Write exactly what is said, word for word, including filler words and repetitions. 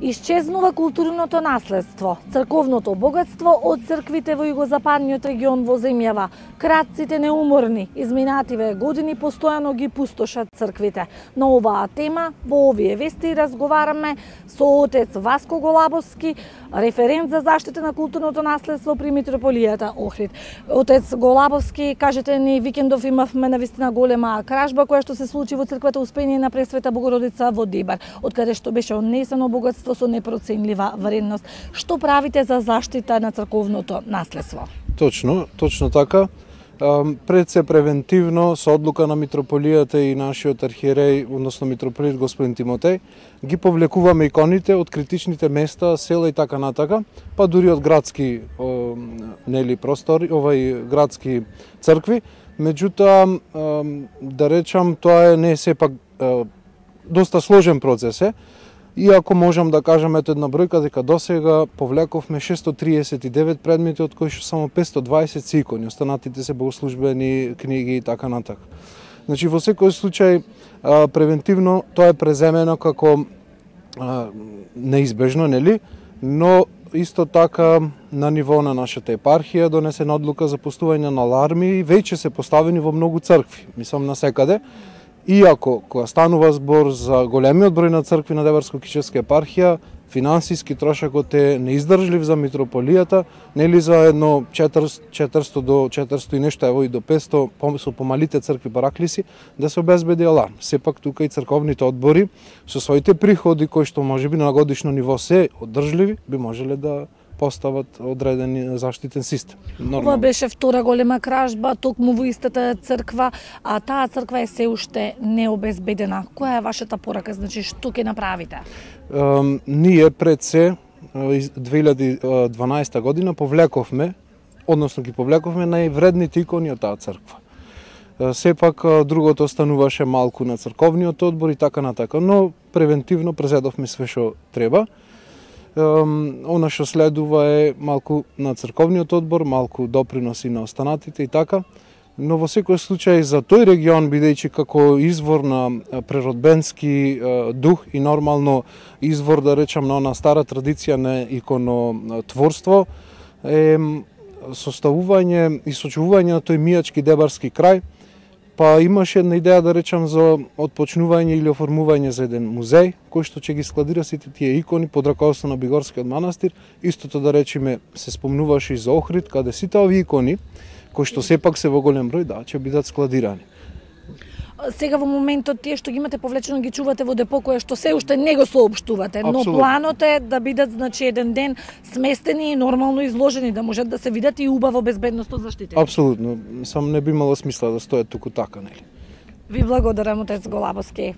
Исчезнува културното наследство, црковното богатство од црквите во југозападниот регион во земјава. Крадците неуморни, изминативе години постојано ги пустошат црквите. На оваа тема во овие вести разговараме со отец Васко Голабовски, референт за заштита на културното наследство при митрополијата Охрид. Отец Голабовски, кажете ни, викендов имавме навистина голема кражба која што се случи во црквата Успение на Пресвета Богородица во Дибар, од каде што беше однесено богатство со непроценлива вредност. Што правите за заштита на црковното наследство? Точно, точно така. Пред се превентивно, со одлука на митрополијата и нашиот архиереј, односно митрополит господин Тимотеј, ги повлекуваме иконите од критичните места, села и така натака, па дури од градски нели простори, овај градски цркви. Меѓутоа, да речам, тоа е не сепак доста сложен процес е. Иако можам да кажам ето една бројка дека досега повлековме шестстотин триесет и девет предмети, од кои што само петстотин и дваесет се икони, останатите се богослужбени книги и така натака. Значи во секој случај превентивно тоа е преземено како неизбежно, нели? Но исто така на ниво на нашата епархија донесена одлука за пустување на аларми и веќе се поставени во многу цркви, мислам насекаде. Иако, кога станува збор за големиот број на цркви на Деварско-Кичевска епархија, финансиски трошокот е неиздржлив за митрополијата, нели за едно четиристото до четиристото и нешто, ево и до петсто, со помалите цркви параклиси, да се обезбеди аларм. Сепак тука и црковните одбори со своите приходи кои што можеби на годишно ниво се одржливи, би можеле да постават одреден заштитен систем. Ова беше втора голема кражба токму во истата црква, а таа црква е се уште необезбедена. Која е вашата порака? Значи, што ќе направите? Um, ние пред се две илјади и дванаесета година повлековме, односно ги повлековме највредните икони од таа црква. Uh, сепак другото остануваше малку на црковниот одбор и така натака, но превентивно презедовме све што треба. Она што следува е малку на црковниот одбор, малку доприноси на останатите и така, но во секој случај за тој регион, бидејќи како извор на природбенски дух и нормално извор, да речам, на она стара традиција на иконотворство, е составување и сочувување на тој мијачки дебарски крај. Па имаше една идеја, да речам, за отпочнување или оформување за еден музеј, кој што ќе ги складира сите тие икони под раководство на Бигорскиот манастир. Истото, да речеме, се спомнуваше и за Охрид, каде сите овие икони, кои што сепак се во голем број, да, ќе бидат складирани. Сега во моментот тие што ги имате повлечено ги чувате во депо кое што се уште не го соопштувате, но Абсолютно. Планот е да бидат, значи, еден ден сместени и нормално изложени, да можат да се видат и убаво безбедноста заштитени. Апсолутно, сам не би имало смисла да стојат туку така, нели? Ви благодарам, отец Голабовски.